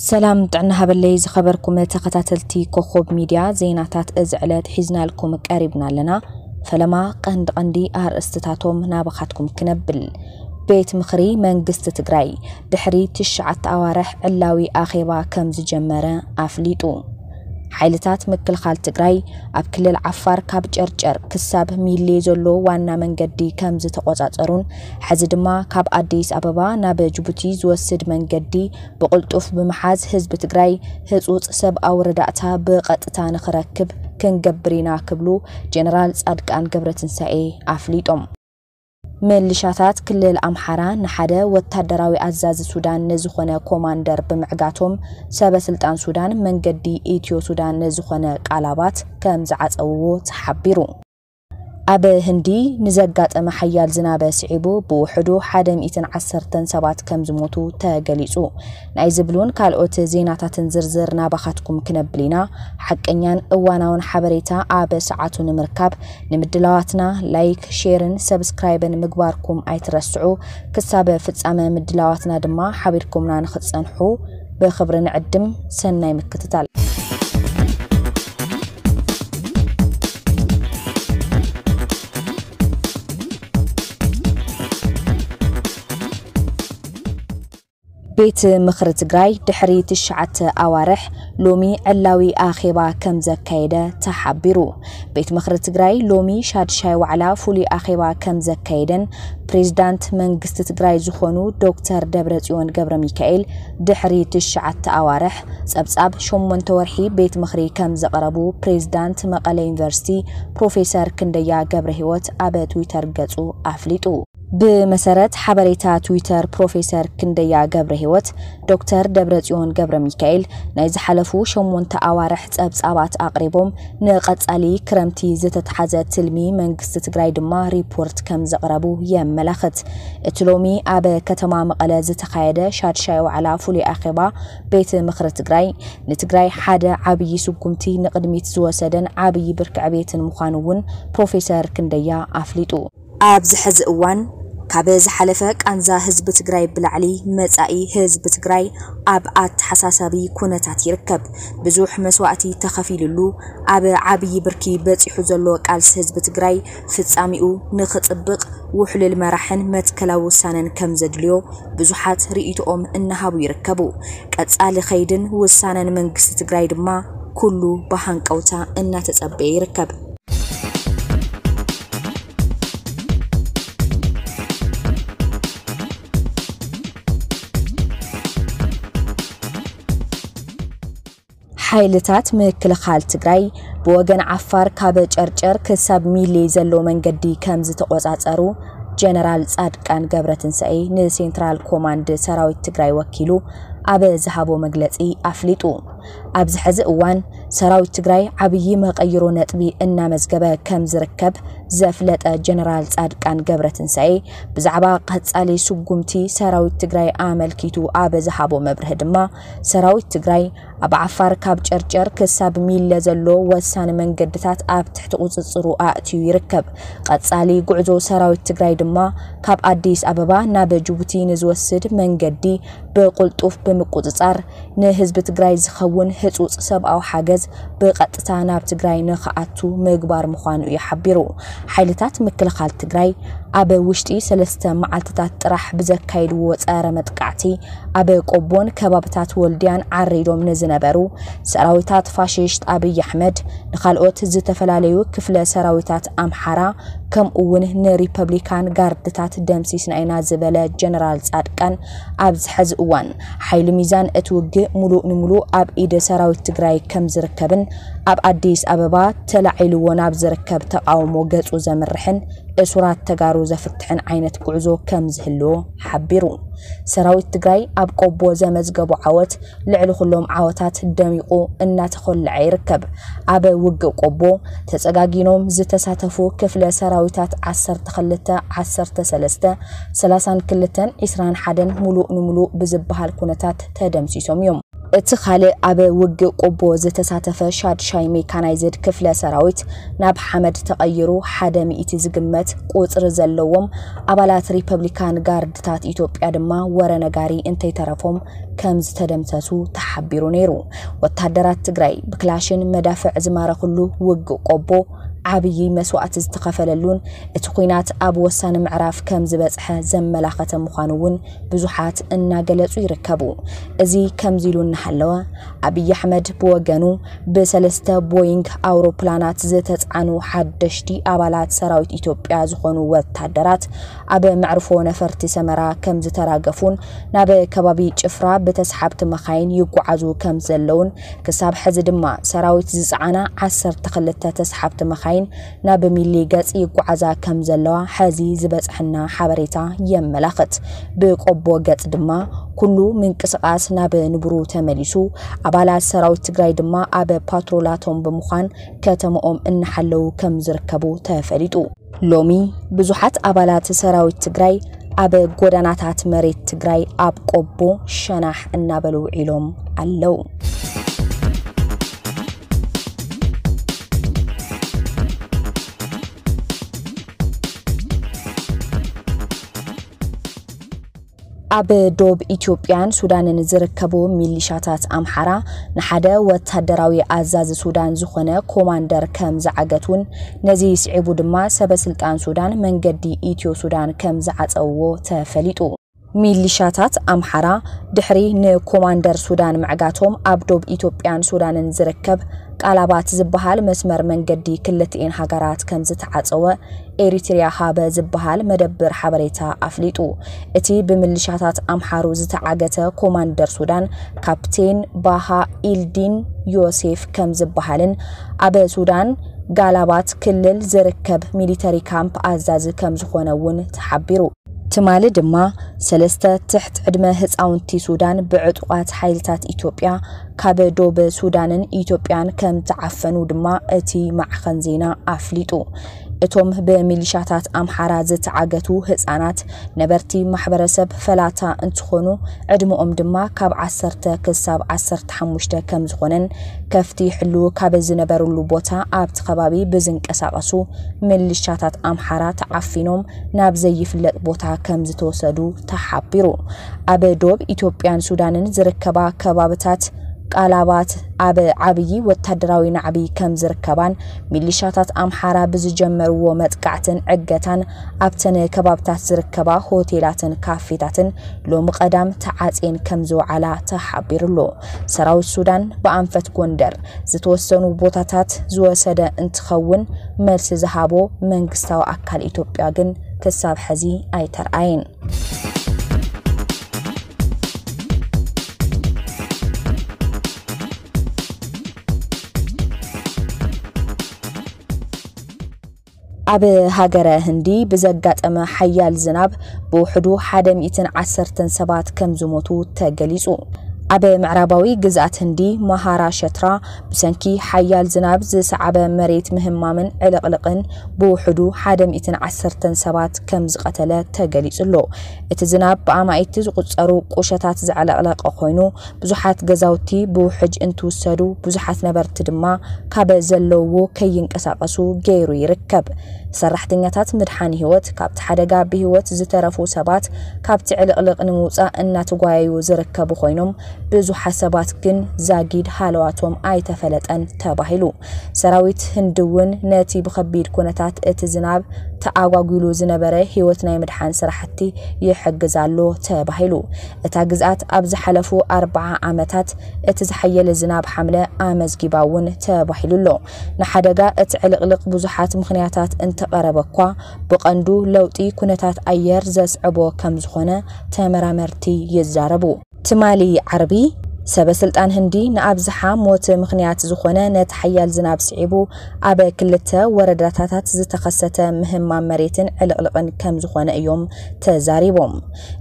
ሰላም ጥዕና ሃበለይ ዝኸበርኩም ተኸታተልቲ ኮኾብ ሚድያ፣ ዜናታት እዚ ዕለት ሒዝናልኩም ቀሪብና ኣለና። ፈለማ ቀንዲ ቀንዲ ኣርእስትታቶም ናባኻትኩም ክነብል። ቤት ምኽሪ መንግስቲ ትግራይ ድሕሪ ትሽዓተ ኣዋርሕ ዕላዊ ኣኼባ ከም ዝጀመረ ኣፍሊጡ። ሓይልታት ምክልኻል ትግራይ ኣብ ክልል ዓፋር ካብ ጨርጨር ክሳብ ሚሌ ዘሎ ዋና መንገዲ ከም ዝተቖጻጸሩን፣ ሕዚ ድማ ካብ ኣዲስ ኣበባ ናብ ጅቡቲ ዝወስድ መንገዲ ብቕልጡፍ ብምሓዝ ህዝቢ ትግራይ ህጹጽ ሰብኣዊ ረዳእታ ብቐጥታ ንኽረክብ ክንገብር ኢና ክብሉ ጀነራል ጻድቃን ገብረትንሳኤ ኣፍሊጦም። ምልሻታት ክልል ኣምሓራ ንሓደ ወታደራዊ ኣዛዚ ሱዳን ንዝኾነ ኮማንደር ብምዕጋቶም፣ ሰበ ስልጣን ሱዳን መንገዲ ኢትዮ ሱዳን ንዝኾነ ቃላባት ከም ዝዓጸውዎ ተሓቢሩ። ኣብ ህንዲ ንዘጋጠመ ሓያል ዝናብ ስዒቡ ብውሕዱ ሓደ ሚእትን ዓሰርተን ሰባት ከም ዝሞቱ ተገሊጹ። ናይ ዝብሉን ካልኦት ዜናታትን ዝርዝር ናባኻትኩም ክነብል ኢና። ሓቀኛን እዋናውን ሓበሬታ ኣብ ሰዓቱ ንምርካብ ንምድላዋትና ላይክ፣ ሼርን ሰብስክራይብን ምግባርኩም ኣይትረስዑ። ክሳብ ፍጻመ ምድላዋትና ድማ ሓቢርኩምና ንኽትጸንሑ ብኽብሪ ንዕድም። ሰናይ ምክትታል። ቤት ምኽሪ ትግራይ ድሕሪ ትሽዓተ ኣዋርሕ ሎሚ ዕላዊ ኣኼባ ከም ዘካየደ ተሓቢሩ። ቤት ምኽሪ ትግራይ ሎሚ ሻድሻይ ዋዕላ ፍሉይ ኣኼባ ከም ዘካየደን ፕሬዝዳንት መንግስቲ ትግራይ ዝኾኑ ዶክተር ደብረጽዮን ገብረ ሚካኤል ድሕሪ ትሽዓተ ኣዋርሕ ጸብጻብ ሸሞንተ ወርሒ ቤት ምኽሪ ከም ዘቕረቡ ፕሬዝዳንት መቐለ ዩኒቨርሲቲ ፕሮፌሰር ክንደያ ገብረ ህይወት ኣብ ትዊተር ገጹ ኣፍሊጡ። ብመሰረት ሓበሬታ ትዊተር ፕሮፌሰር ክንደያ ገብረ ህይወት፣ ዶክተር ደብረጽዮን ገብረ ሚካኤል ናይ ዝሓለፉ ሸሞንተ ኣዋርሕ ጸብጻባት ኣቕሪቦም፣ ንቐጻሊ ክረምቲ ዝተትሓዘ ትልሚ መንግስቲ ትግራይ ድማ ሪፖርት ከም ዘቕረቡ የመላኽት። እቲ ሎሚ ኣብ ከተማ መቐለ ዝተኻየደ ሻድሻይ ዋዕላ ፍሉይ ኣኼባ ቤት ምኽሪ ትግራይ፣ ንትግራይ ሓደ ዓብዪ ስጉምቲ ንቕድሚት ዝወሰደን ዓብዪ ብርኪ ዕቤትን ምዃኑ እውን ፕሮፌሰር ክንደያ ኣፍሊጡ። ኣብዚ ሕዚ እዋን ካብ ዝሓለፈ ቃንዛ ህዝቢ ትግራይ ብላዕሊ መጻኢ ህዝቢ ትግራይ ኣብ ኣተሓሳሳቢ ኩነታት ይርከብ። ብዙሕ መስዋእቲ ተኸፊሉሉ ኣብ ዓብዪ ብርኪ በጺሑ ዘሎ ቃልሲ ህዝቢ ትግራይ ፍጻሜኡ ንኽጽብቕ ውሕሉል መራሕን መትከላዊ ውሳነን ከም ዘድልዮ ብዙሓት ርእይቶኦም እናሃቡ ይርከቡ። ቀጻሊ ኸይድን ውሳነን መንግስቲ ትግራይ ድማ ኩሉ ብሃንቀውታ እናተጸበየ ይርከብ። ሓይልታት ምክልኻል ትግራይ ብወገን ዓፋር ካብ ጨርጨር ክሳብ ሚሌ ዘሎ መንገዲ ከም ዝተቖጻጸሩ ጀነራል ጻድቃን ገብረትንሳኤ ንሴንትራል ኮማንድ ሰራዊት ትግራይ ወኪሉ ኣብ ዝሃቦ መግለጺ ኣፍሊጡ። ኣብዚ ሕዚ እዋን ሰራዊት ትግራይ ዓብዪ መቐይሮ ነጥቢ እናመዝገበ ከም ዝርከብ ዘፍለጠ ጀነራል ጻድቃን ገብረትንሳኤ፣ ብዛዕባ ቀጻሊ ስጉምቲ ሰራዊት ትግራይ ኣመልኪቱ ኣብ ዝሃቦ መብርሂ ድማ፣ ሰራዊት ትግራይ ኣብ ዓፋር ካብ ጨርጨር ክሳብ ሚለ ዘሎ ወሳኒ መንገድታት ኣብ ትሕቲ ቁጽጽሩ ኣእትዩ ይርከብ። ቀጻሊ ጉዕዞ ሰራዊት ትግራይ ድማ ካብ ኣዲስ ኣበባ ናብ ጅቡቲ ንዝወስድ መንገዲ ብቕልጡፍ ብምቁጽጻር፣ ንህዝቢ ትግራይ ዝኸውን ህጹጽ ሰብኣዊ ሓገዝ ብቐጥታ ናብ ትግራይ ንኽኣቱ ምግባር ምዃኑ እዩ ሓቢሩ። ሓይልታት ምክልኻል ትግራይ ኣብ ውሽጢ ሰለስተ መዓልትታት ጥራሕ ብዘካየድዎ ጸረ መጥቃዕቲ፣ ኣብ ቆቦን ከባብታት ወልድያን ዓሪዶም ንዝነበሩ ሰራዊታት ፋሽስት ኣብይ ኣሕመድ፣ ንኻልኦት ዝተፈላለዩ ክፍለ ሰራዊታት ኣምሓራ፣ ከምኡ እውን ንሪፐብሊካን ጋርድታት ደምሲስና ኢና ዝበለ ጀነራል ጻድቃን፣ ኣብዚ ሕዚ እዋን ሓይሊ ሚዛን እቲ ውግእ ሙሉእ ንሙሉእ ኣብ ኢድ ሰራዊት ትግራይ ከም ዝርከብን ኣብ ኣዲስ ኣበባ ተላዒልዎ ናብ ዝርከብ ተቓውሞ ገጹ ዘምርሕን እሱራት ተጋሩ ዘፍትሕን ዓይነት ጉዕዞ ከም ዝህልዎ ሓቢሩ። ሰራዊት ትግራይ ኣብ ቆቦ ዘመዝገቦ ዓወት ልዕሊ ኩሎም ዓወታት ደሚቑ እናተኾልዐ ይርከብ። ኣብ ውግእ ቆቦ ተጸጋጊኖም ዝተሳተፉ ክፍለ ሰራዊታት ዓሰርተ ክልተ፣ ዓሰርተ ሰለስተ፣ ሰላሳን ክልተን፣ ዒስራን ሓደን ሙሉእ ንሙሉእ ብዝበሃል ኩነታት ተደምሲሶም እዮም። እቲ ካልእ ኣብ ውግእ ቆቦ ዝተሳተፈ ሻድሻይ ሜካናይዝድ ክፍለ ሰራዊት ናብ ሓመድ ተቐይሩ፣ ሓደ ሚእቲ ዝግመት ቁጽሪ ዘለዎም ኣባላት ሪፐብሊካን ጋርድታት ኢትዮጵያ ድማ ወረ ነጋሪ እንተይተረፎም ከም ዝተደምሰሱ ተሓቢሩ ነይሩ። ወታደራት ትግራይ ብክላሽን መዳፍዕ ዝማረኽሉ ውግእ ቆቦ ዓብዪ መስዋእቲ ዝተኸፈለሉን እቲ ኲናት ኣብ ወሳኒ ምዕራፍ ከም ዝበጽሐ ዘመላኸተ ምዃኑ እውን ብዙሓት እናገለጹ ይርከቡ። እዚ ከምዚ ኢሉ እናሃለወ፣ ኣብይ ኣሕመድ ብወገኑ ብሰለስተ ቦይንግ ኣውሮፕላናት ዝተጽዓኑ ሓደሽቲ ኣባላት ሰራዊት ኢትዮጵያ ዝኾኑ ወታደራት ኣብ መዕርፎ ነፈርቲ ሰመራ ከም ዝተራገፉን ናብ ከባቢ ጭፍራ ብተስሓብቲ መኻይን ይጓዓዙ ከም ዘለውን፣ ክሳብ ሕዚ ድማ ሰራዊት ዝጸዓና ዓሰርተ ክልተ ተስሓብቲ መኻይን ናብ ሚሊ ገጽ ይጓዓዛ ከም ዘለዋ ሕዚ ዝበጽሐና ሓበሬታ የመላኽት። ብቆቦ ገጽ ድማ ኩሉ ምንቅስቓስ ናብ ንቡሩ ተመሊሱ፣ ኣባላት ሰራዊት ትግራይ ድማ ኣብ ፓትሮላቶም ብምዃን ከተማኦም እናሓለዉ ከም ዝርከቡ ተፈሊጡ። ሎሚ ብዙሓት ኣባላት ሰራዊት ትግራይ ኣብ ጎዳናታት መሬት ትግራይ ኣብ ቆቦ ሸናሕ እናበሉ ውዒሎም ኣለዉ። ኣብ ዶብ ኢትዮጵያን ሱዳንን ዝርከቡ ሚሊሻታት ኣምሓራ ንሓደ ወታደራዊ ኣዛዚ ሱዳን ዝኾነ ኮማንደር ከም ዝዓገቱን፣ ነዚ ስዒቡ ድማ ሰበ ስልጣን ሱዳን መንገዲ ኢትዮ ሱዳን ከም ዝዓጸውዎ ተፈሊጡ። ሚሊሻታት ኣምሓራ ድሕሪ ንኮማንደር ሱዳን ምዕጋቶም ኣብ ዶብ ኢትዮጵያን ሱዳንን ዝርከብ ቃላባት ዝበሃል መስመር መንገዲ ክልቲኤን ሃገራት ከም ዝተዓጸወ ኤሪትሪያ ሃበ ዝበሃል መደብር ሓበሬታ ኣፍሊጡ። እቲ ብምልሻታት ኣምሓሩ ዝተዓገተ ኮማንደር ሱዳን ካፕቴን ባሃ ኢልዲን ዮሴፍ ከም ዝበሃልን ኣብ ሱዳን ጋላባት ክልል ዝርከብ ሚሊተሪ ካምፕ ኣዛዚ ከም ዝኾነ እውን ተሓቢሩ። ትማሊ ድማ ሰለስተ ትሕት ዕድመ ህፃውንቲ ሱዳን ብዕጡቓት ሓይልታት ኢትዮጵያ ካብ ዶብ ሱዳንን ኢትዮጵያን ከም ተዓፈኑ ድማ እቲ ማዕኸን ዜና ኣፍሊጡ። እቶም ብሚሊሻታት ኣምሓራ ዝተዓገቱ ህፃናት ነበርቲ ማሕበረሰብ ፈላታ እንትኾኑ፣ ዕድመኦም ድማ ካብ ዓሰርተ ክሳብ ዓሰርተ ሓሙሽተ ከም ዝኾነን፣ ከፍቲ ይሕልዉ ካብ ዝነበሩሉ ቦታ ኣብቲ ከባቢ ብዝንቀሳቐሱ ምልሻታት ኣምሓራ ተዓፊኖም ናብ ዘይፍለጥ ቦታ ከም ዝተወሰዱ ተሓቢሩ። ኣብ ዶብ ኢትዮጵያን ሱዳንን ዝርከባ ከባብታት ቃላባት ኣብ ዓብዪ ወታደራዊ ናዕቢ ከም ዝርከባን፣ ሚሊሻታት ኣምሓራ ብዝጀመርዎ መጥቃዕትን ዕገታን ኣብተን ከባብታት ዝርከባ ሆቴላትን ካፌታትን ሎሚ ቀዳም ተዓጽየን ከም ዝወዓላ ተሓቢሩ ኣሎ። ሰራዊት ሱዳን ብኣንፈት ጎንደር ዝተወሰኑ ቦታታት ዝወሰደ እንትኸውን፣ መልሲ ዝሃቦ መንግስታዊ ኣካል ኢትዮጵያ ግን ክሳብ ሕዚ ኣይተርኣየን። ኣብ ሃገረ ህንዲ ብዘጋጠመ ሓያል ዝናብ ብውሕዱ ሓደ ሚእትን ዓሰርተን ሰባት ከም ዝሞቱ ተገሊጹ። ኣብ ምዕራባዊ ግዝኣት ህንዲ ማሃራሸትራ ብሰንኪ ሓያል ዝናብ ዝሰዓበ መሬት ምህማምን ዕልቕልቕን ብውሕዱ ሓደ ሚእትን ዓሰርተን ሰባት ከም ዝቐተለ ተገሊጹ ኣሎ። እቲ ዝናብ ብኣማኢቲ ዝቑጸሩ ቁሸታት ዘዕለቕለቐ ኮይኑ፣ ብዙሓት ገዛውቲ ብውሕጅ እንትውሰዱ፣ ብዙሓት ነበርቲ ድማ ካብ ዘለውዎ ከይንቀሳቐሱ ገይሩ ይርከብ። ሰራሕተኛታት ምድሓን ህይወት ካብቲ ሓደጋ ብህይወት ዝተረፉ ሰባት ካብቲ ዕልቕልቕ ንምውጻእ እናተጓየዩ ዝርከቡ ኮይኖም፣ ብዙሓት ሰባት ግን ዛጊድ ሃለዋቶም ኣይተፈለጠን ተባሂሉ። ሰራዊት ህንዲ እውን ነቲ ብኸቢድ ኩነታት እቲ ዝናብ ተኣጓጒሉ ዝነበረ ህይወት ናይ ምድሓን ስራሕቲ ይሕግዝ ኣሎ ተባሂሉ። እታ ግዝኣት ኣብ ዝሓለፉ ኣርብዓ ዓመታት እቲ ዝሓየለ ዝናብ ሓምለ ኣመዝጊባ እውን ተባሂሉ ኣሎ። ንሓደጋ እቲ ዕልቕልቕ ብዙሓት ምኽንያታት እንተቐረበ እኳ፣ ብቐንዱ ለውጢ ኩነታት ኣየር ዘስዕቦ ከም ዝኾነ ተመራመርቲ ይዛረቡ። ትማሊ ዓርቢ፣ ሰበ ስልጣን ህንዲ ንኣብዝሓ ሞት ምኽንያት ዝኾነ ነቲ ሓያል ዝናብ ስዒቡ ኣብ ክልተ ወረዳታት ዝተኸሰተ ምህማም መሬትን ዕልቕልቕን ከም ዝኾነ እዮም ተዛሪቦም።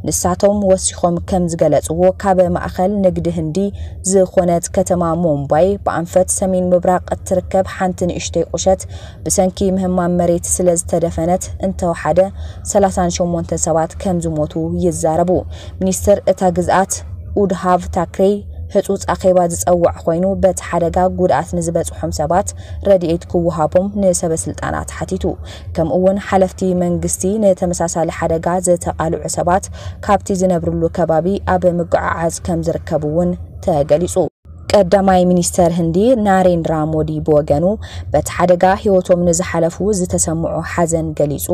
ንሳቶም ወሲኾም ከም ዝገለጽዎ፣ ካብ ማእኸል ንግዲ ህንዲ ዝኾነት ከተማ ሙምባይ ብኣንፈት ሰሜን ምብራቕ እትርከብ ሓንቲ ንእሽተይ ቁሸት ብሰንኪ ምህማም መሬት ስለ ዝተደፈነት እንተወሓደ ሰላሳን ሸሞንተን ሰባት ከም ዝሞቱ ይዛረቡ። ሚኒስትር እታ ግዝኣት ኡድሃቭ ታክሬ ህጹጽ ኣኼባ ዝጸውዕ ኮይኑ፣ በቲ ሓደጋ ጉድኣት ንዝበጽሖም ሰባት ረድኤት ክወሃቦም ንሰበ ስልጣናት ሓቲቱ። ከምኡ እውን ሓለፍቲ መንግስቲ ንተመሳሳሊ ሓደጋ ዝተቓልዑ ሰባት ካብቲ ዝነብርሉ ከባቢ ኣብ ምጉዕዓዝ ከም ዝርከቡ እውን ተገሊጹ። ቀዳማይ ሚኒስተር ህንዲ ናሬንድራ ሞዲ ብወገኑ፣ በቲ ሓደጋ ህይወቶም ንዝሓለፉ ዝተሰምዖ ሓዘን ገሊጹ፣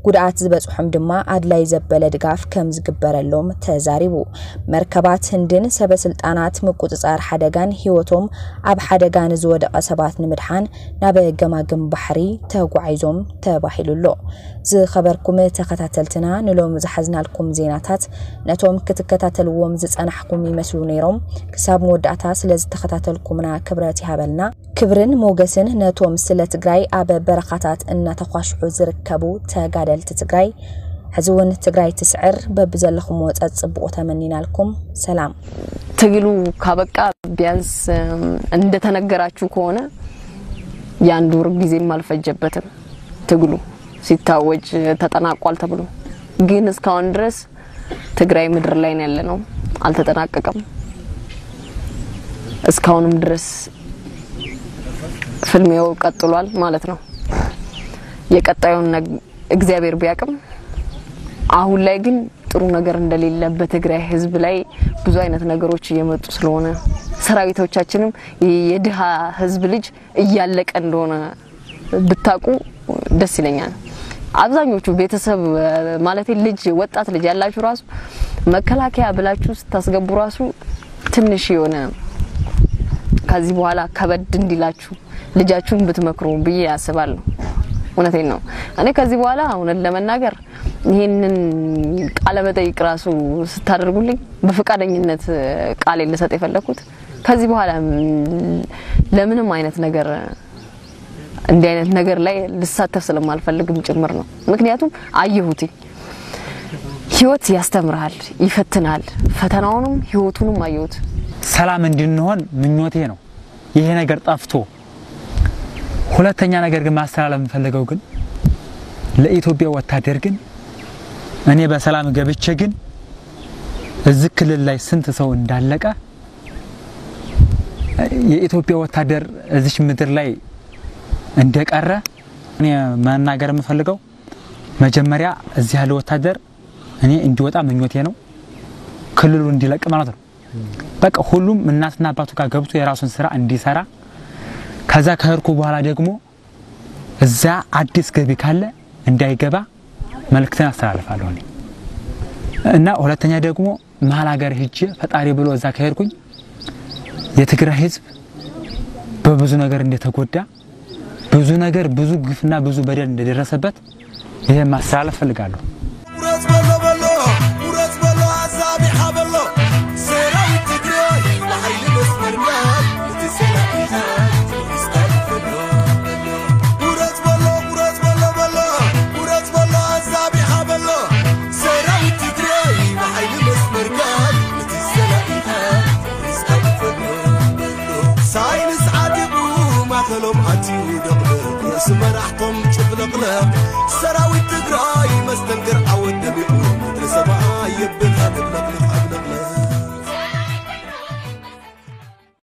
ጉድኣት ዝበጽሖም ድማ ኣድላይ ዘበለ ድጋፍ ከም ዝግበረሎም ተዛሪቡ። መርከባት ህንድን ሰበ ስልጣናት ምቁጽጻር ሓደጋን ህይወቶም ኣብ ሓደጋ ንዝወደቐ ሰባት ንምድሓን ናብ ገማግም ባሕሪ ተጓዒዞም ተባሂሉ ኣሎ። ዝኸበርኩም ተኸታተልትና፣ ንሎም ዝሓዝናልኩም ዜናታት ነቶም ክትከታተልዎም ዝጸናሕኩም ይመስሉ ነይሮም። ክሳብ መወዳእታ ስለ ዝተኸታተልኩምና ክብረት ይሃበልና። ክብርን ሞገስን ነቶም ስለ ትግራይ ኣብ በረኻታት እናተኳሽሑ ዝርከቡ ተጋደልቲ ትግራይ። ሕዚ እውን ትግራይ ትስዕር፣ በብዘለኹምዎ ጸጽብቑ ተመኒናልኩም። ሰላም። ትግሉ ካበቃ ቢያንስ፣ እም፣ እንደተነገራችሁ ከሆነ የአንድ ወር ጊዜም አልፈጀበትም። ትግሉ ሲታወጅ ተጠናቋል ተብሎ፣ ግን እስካሁን ድረስ ትግራይ ምድር ላይ ነው ያለነው፣ አልተጠናቀቀም። እስካሁንም ድረስ ፍልሚያው ቀጥሏል ማለት ነው። የቀጣዩን ነግ- እግዚአብሔር ቢያቅም፣ አሁን ላይ ግን ጥሩ ነገር እንደሌለ፣ በትግራይ ህዝብ ላይ ብዙ አይነት ነገሮች እየመጡ ስለሆነ፣ ሰራዊቶቻችንም የድሃ ህዝብ ልጅ እያለቀ እንደሆነ ብታቁ ደስ ይለኛል። አብዛኞቹ ቤተሰብ፣ ማለት ልጅ፣ ወጣት ልጅ ያላችሁ ራሱ መከላከያ ብላችሁ ስታስገቡ ራሱ ትንሽ የሆነ ከዚህ በኋላ ከበድ እንዲላችሁ ልጃችሁን ብትመክሩ ብዬ አስባለሁ። እውነቴን ነው። እኔ ከዚህ በኋላ እውነት ለመናገር ይህንን ቃለ መጠይቅ ራሱ ስታደርጉልኝ በፈቃደኝነት ቃሌን ልሰጥ የፈለግኩት፣ ከዚህ በኋላ ለምንም አይነት ነገር፣ እንዲህ አይነት ነገር ላይ ልሳተፍ ስለማልፈልግም ጭምር ነው። ምክንያቱም አየሁት፣ ህይወት ያስተምርሃል፣ ይፈትናል። ፈተናውንም ህይወቱንም አየሁት። ሰላም እንድንሆን ምኞቴ ነው። ይሄ ነገር ጠፍቶ፣ ሁለተኛ ነገር ግን ማስተላለፍ የምፈልገው ግን ለኢትዮጵያ ወታደር ግን፣ እኔ በሰላም ገብቼ ግን እዚህ ክልል ላይ ስንት ሰው እንዳለቀ፣ የኢትዮጵያ ወታደር እዚች ምድር ላይ እንደቀረ፣ እኔ መናገር የምፈልገው መጀመሪያ እዚህ ያለ ወታደር እኔ እንዲወጣ ምኞቴ ነው። ክልሉ እንዲለቅ ማለት ነው። በቃ ሁሉም እናትና አባቱ ጋር ገብቶ የራሱን ስራ እንዲሰራ፣ ከዛ ከሄድኩ በኋላ ደግሞ እዛ አዲስ ገቢ ካለ እንዳይገባ መልእክትን አስተላልፋለሁ እኔ። እና ሁለተኛ ደግሞ መሀል ሀገር ሄጄ ፈጣሪ ብሎ እዛ ከሄድኩኝ የትግራይ ህዝብ በብዙ ነገር እንደተጎዳ፣ ብዙ ነገር፣ ብዙ ግፍና ብዙ በደል እንደደረሰበት ይሄ ማስተላለፍ ፈልጋለሁ። ቁረጽ በሎ በሎ፣ ቁረጽ በሎ፣ ኣዛቢሓ በሎ። ሰራዊት ትግራይ ብሓይሊ መስመርና፣ እቲ ሰላም ኢኻ፣ እስካብ በሎ። ቁረጽ በሎ፣ ቁረጽ በሎ በሎ፣ ቁረጽ በሎ፣ ኣዛቢሓ በሎ። ሰራዊት ትግራይ ብሓይሊ መስመርና፣ እቲ ሰላም ኢኻ፣ እስካብ በሎ። ሳይንስ ዓዲጉ ማእከሎም ኣትዩ ደቕድቕ፣ ርእሲ መራሕቶም ጭፍልቕልቕ። ሰራዊት ትግራይ መስተንክር ዓወት ደሚቑ፣ ምድሪ ሰማይ የብል ሃገር ለቕልቕ።